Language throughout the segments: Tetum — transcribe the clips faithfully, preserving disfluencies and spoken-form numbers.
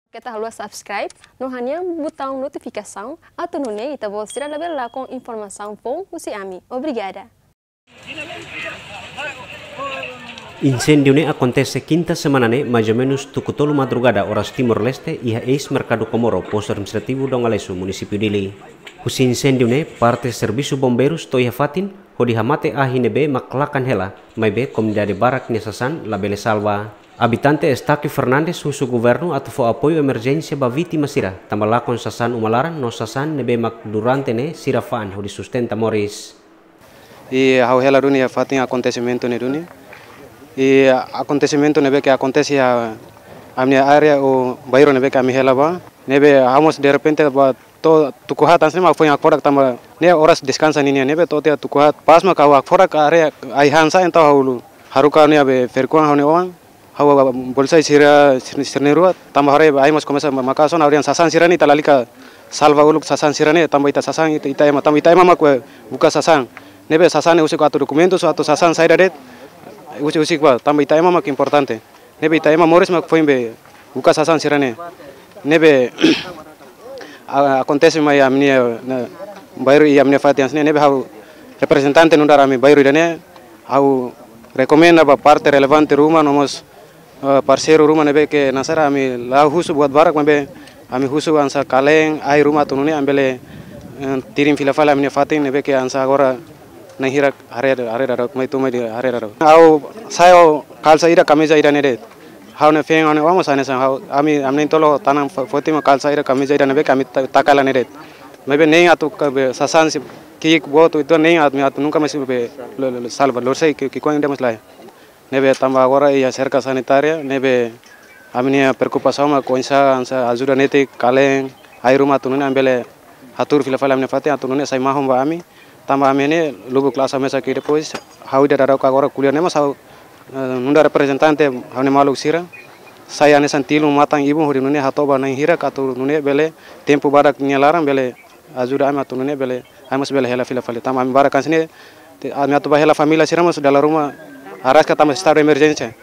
Keta haluha subscribe no hanehan butaun notifikasaun atu nune'e ita-boot sira labele lakon informasaun foun husi ami. Obrigada. Inséndiu ne'e akontese kinta semana ne'e, mais ou menus tuku tolu madrugada oras Timor-Leste, iha eis Merkadu Comoro, Postu Administrativu Dongalesu, Munisípiu Dili. Husi inséndiu ne'e, parte servisu bombeirus to'o iha fatin, hodi hamate ahi ne'ebé mak lakan hela, maibé komunidade barak nia sasán labele salva. Abitante Estáquio Fernandes husu governu atu fó apoiu emerjénsia ba vítima sira, tanba lakon sasán uma laran no sasán ne'ebé mak durante ne'e sira fa'an hodi sustenta moris. I ha'u hela duni iha fatin akontesimentu ne'e duni. I akontesimentu ne'ebé ke akontese iha ami-nia área ou bairru ne'ebé ke ami hela ba. Ne'ebé ha'u mós derrepente ba to'o tuku haat hanesan ne'e mak foin hakfodak tanba ne'e oras deskansa ninian ne'ebé to'o tiha tuku haat. Pas mak ha'u hakfodak haree ai-han sa'e entaun ha'u haruka ne'e be ferik-oan ha'u-nia oan. Ha'u bá bolu sai sira sira sira na'in-rua tanba haree ai mós komesa ma-, maka'as ona ha'u dehan sasán sira-ne'e ita lalika salva uluk sasán sira-ne'e tanba ita sasán ita, ita ema tanba ita ema mak buka sasán. Ne'ebé sasán ne'e husik atu dokumentus atu sasán saida de'it. Husik husik ba tanba ita ema mak importante. Ne'ebé ita ema moris mak foin be buka sasán sira-ne'e. Ne'ebé a-, akontese mai ami-nia, ne'e, bairru iha ami-nia fatin hanesan ne'e, ne'ebé ha'u reprezentante nu'udar ami bairru ida-ne'e, ha'u rekomenda ba parte relevante ruma no mós, eh, parseiru ruma ne'ebé ke nasaran ami la husu buat barak maibé ami husu hanesan kaleen, ai ruma atu nune'e ami bele, eh, tirin fila fali ami-nia fatin ne'ebé ke hanesan agora na'in hirak haree, haree dadauk mai tun mai di haree dadauk. Ha'u sa'e ho kalsa ida kamiza ida ne'e de'it. Ha'u-nia feen ha'u-nia oan mós hanesan ha'u, ami, ami na'in-tolu tanan fo-, foti mak kalsa ida kamiza ida ne'ebé ke ami ta-, taka hela ne'e de'it. Maibé nein atu ka be sasán sei ki'ik boot ita nein atu, atu nunka mais be lo, lo, lo salva, lori sai ki'ik, ki'ik-oan ida mós lae. Ne'ebé tanba agora iha serka sanitária, ne'ebé ami-nia preokupasaun mak oinsá, oinsá ajuda netik, kaleen, ai ruma atu nune'e ami bele hatuur fila fali ami-nia fatin atu nune'e sai mahon ba ami. Tanba ami ne'e lubuk la'ós mesak i depois ha'u ida dadauk agora ko'alia ne'e mós ha'u, eh, nu'udar reprezentante ha'u-nia maluk sira. Sai hanesan tilun matan ibun hodi nune'e hato'o ba na'in hirak atu nune'e bele tempu badak nia laran bele ajuda ami atu nune'e bele, ami mós bele hela fila fali. Tanba ami barak hanesan ne'e, te-, ami atu bá hela família sira mós dala ruma araska tanba estadu emerjénsia.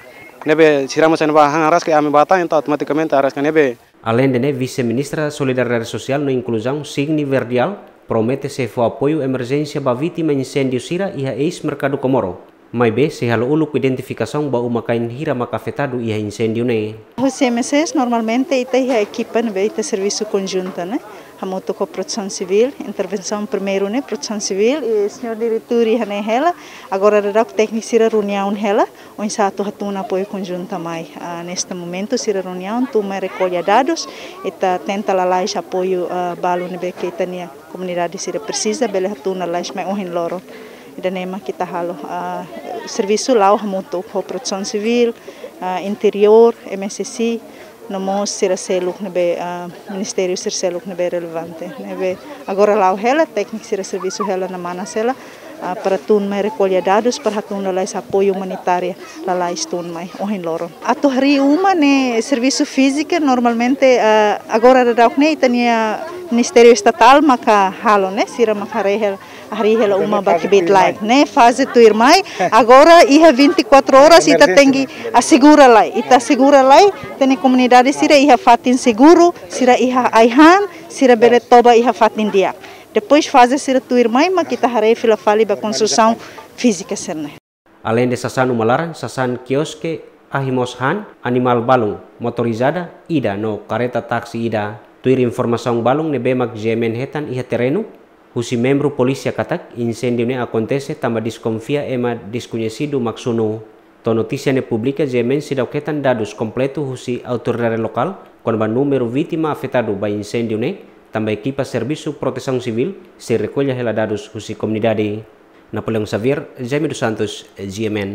Ne'ebé sira mós iha ne'ebá han araska ami bá tan entaun automatikamente araska ne'ebé. Aleinde ne'e, Vise-Ministra Solidariedade Sosiál no Inkluzaun, Signy Verdial, promete sei fó apoiu emerjénsia ba vítima inséndiu sira iha eis Merkadu Comoro. Maibé sei halo uluk identifikasaun ba uma-kain hira mak afetadu iha inséndiu ne'e. Husi M S S normalmente ita iha ekipa ne'ebé ita servisu konjunta ne'e. Hamutuk ho Protesaun Sivíl, intervensaun primeiru ne'e Protesaun Sivíl, i señór diretór iha ne'e hela, agora dadauk tékniku sira reuniaun hela, oinsá atu hatún apoiu konjunta mai. Ah, neste momento sira reuniaun, tun mai rekolla dadus, ita tenta lalais apoiu, ah, balu ne'ebé ke ita-nia komunidade sira presiza, bele hatún lalais mai ohin loron. Ida-ne'e mak ita halo, ah, servisu la'o hamutuk ho Protesaun Sivíl, ah, Interiór, M S S I, no mós sira seluk ne'ebé, ah, ministériu sira seluk ne'ebé relevante. Ne'ebé agora la'o hela, tékniku sira servisu hela na mana sela, ah, para tun mai rekolla dadus, para hatún lalais apoiu umanitária, lalais tun mai ohin loron. Atu harii uma ne'e servisu fíziku normalmente, ah, agora dadauk ne'e ita-nia Ministériu Estatál maka halo ne'e, sira maka harii hela, harii hela uma ba kbiit-laek ne'e, faze tuirmai. Agora iha vinte e quatro horas ita tenke asegura lai, ita asegura lai, ita-nia komunidade sira iha fatin seguru, sira iha ai-han, sira bele toba iha fatin di'ak. Depois faze sira tuirmai mak ita haree fila fali ba konstrusaun fízika sira-ne'e. Aleinde sasán uma laran, sasán kioske, ahi mós han, animál balun, motorizada ida no kareta taksi ida. Tuir informasaun balun ne'ebé mak G M N hetan iha terrenu, husi membru polísia katak inséndiu ne'e akontese tanba deskonfia ema deskoñesidu mak sunu. To'o notísia ne'e publika, G M N seidauk hetan dadus kompletu husi autoridade lokál kona-ba númeru vítima afetadu ba inséndiu ne'e, tanba ekipa Servisu Protesaun Sivíl sei rekolla hela dadus husi komunidade. Napoleão Xavier, Jaime dos Santos, G M N.